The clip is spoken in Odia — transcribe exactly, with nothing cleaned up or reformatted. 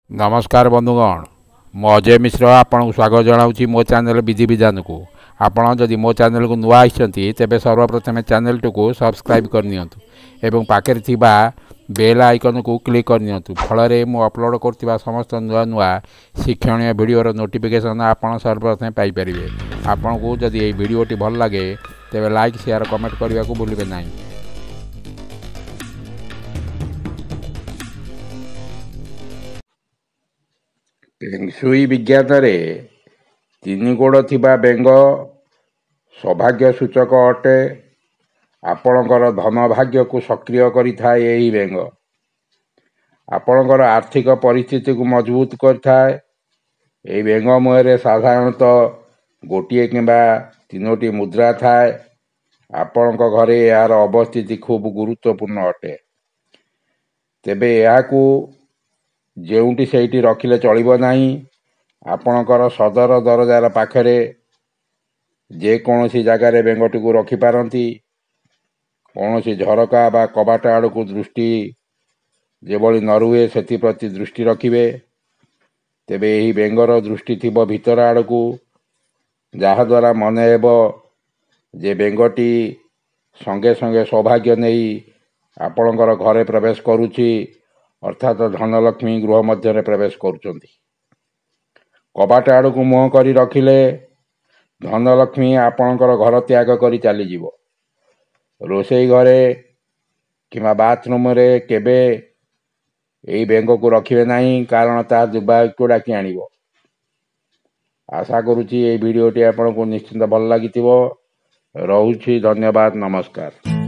ନମସ୍କାର ବନ୍ଧୁଗଣ, ମୁଁ ଅଜୟ ମିଶ୍ର ଆପଣଙ୍କୁ ସ୍ୱାଗତ ଜଣାଉଛି ମୋ ଚ୍ୟାନେଲ୍ ବିଧିବିଧାନକୁ। ଆପଣ ଯଦି ମୋ ଚ୍ୟାନେଲକୁ ନୂଆ ଆସିଛନ୍ତି, ତେବେ ସର୍ବପ୍ରଥମେ ଚ୍ୟାନେଲଟିକୁ ସବସ୍କ୍ରାଇବ୍ କରିନିଅନ୍ତୁ ଏବଂ ପାଖରେ ଥିବା ବେଲ୍ ଆଇକନ୍କୁ କ୍ଲିକ୍ କରିନିଅନ୍ତୁ। ଫଳରେ ମୁଁ ଅପଲୋଡ଼ କରୁଥିବା ସମସ୍ତ ନୂଆ ନୂଆ ଶିକ୍ଷଣୀୟ ଭିଡ଼ିଓର ନୋଟିଫିକେସନ୍ ଆପଣ ସର୍ବପ୍ରଥମେ ପାଇପାରିବେ। ଆପଣଙ୍କୁ ଯଦି ଏହି ଭିଡ଼ିଓଟି ଭଲ ଲାଗେ, ତେବେ ଲାଇକ୍, ସେୟାର, କମେଣ୍ଟ କରିବାକୁ ଭୁଲିବେ ନାହିଁ। ଫେଂସୁଇ ବିଜ୍ଞାନରେ ତିନି ଗୋଡ଼ ଥିବା ବେଙ୍ଗ ସୌଭାଗ୍ୟ ସୂଚକ ଅଟେ। ଆପଣଙ୍କର ଧନ ଭାଗ୍ୟକୁ ସକ୍ରିୟ କରିଥାଏ। ଏହି ବେଙ୍ଗ ଆପଣଙ୍କର ଆର୍ଥିକ ପରିସ୍ଥିତିକୁ ମଜବୁତ କରିଥାଏ। ଏହି ବେଙ୍ଗ ମୁହଁରେ ସାଧାରଣତଃ ଗୋଟିଏ କିମ୍ବା ତିନୋଟି ମୁଦ୍ରା ଥାଏ। ଆପଣଙ୍କ ଘରେ ଏହାର ଅବସ୍ଥିତି ଖୁବ୍ ଗୁରୁତ୍ୱପୂର୍ଣ୍ଣ ଅଟେ। ତେବେ ଏହାକୁ ଯେଉଁଠି ସେଇଠି ରଖିଲେ ଚଳିବ ନାହିଁ। ଆପଣଙ୍କର ସଦର ଦରଜାର ପାଖରେ ଯେକୌଣସି ଜାଗାରେ ବେଙ୍ଗଟିକୁ ରଖିପାରନ୍ତି। କୌଣସି ଝରକା ବା କବାଟ ଆଡ଼କୁ ଦୃଷ୍ଟି ଯେଭଳି ନ ରୁହେ, ସେଥିପ୍ରତି ଦୃଷ୍ଟି ରଖିବେ। ତେବେ ଏହି ବେଙ୍ଗର ଦୃଷ୍ଟି ଥିବ ଭିତର ଆଡ଼କୁ, ଯାହାଦ୍ୱାରା ମନେ ହେବ ଯେ ବେଙ୍ଗଟି ସଙ୍ଗେ ସଙ୍ଗେ ସୌଭାଗ୍ୟ ନେଇ ଆପଣଙ୍କର ଘରେ ପ୍ରବେଶ କରୁଛି, ଅର୍ଥାତ୍ ଧନଲକ୍ଷ୍ମୀ ଗୃହ ମଧ୍ୟରେ ପ୍ରବେଶ କରୁଛନ୍ତି। କବାଟ ଆଡ଼କୁ ମୁହଁ କରି ରଖିଲେ ଧନଲକ୍ଷ୍ମୀ ଆପଣଙ୍କର ଘର ତ୍ୟାଗ କରି ଚାଲିଯିବ। ରୋଷେଇ ଘରେ କିମ୍ବା ବାଥରୁମ୍ରେ କେବେ ଏହି ବେଙ୍ଗକୁ ରଖିବେ ନାହିଁ, କାରଣ ତାହା ଦୁର୍ଭାଗ୍ୟକୁ ଡାକି ଆଣିବ। ଆଶା କରୁଛି ଏହି ଭିଡ଼ିଓଟି ଆପଣଙ୍କୁ ନିଶ୍ଚିନ୍ତ ଭଲ ଲାଗିଥିବ। ରହୁଛି, ଧନ୍ୟବାଦ, ନମସ୍କାର।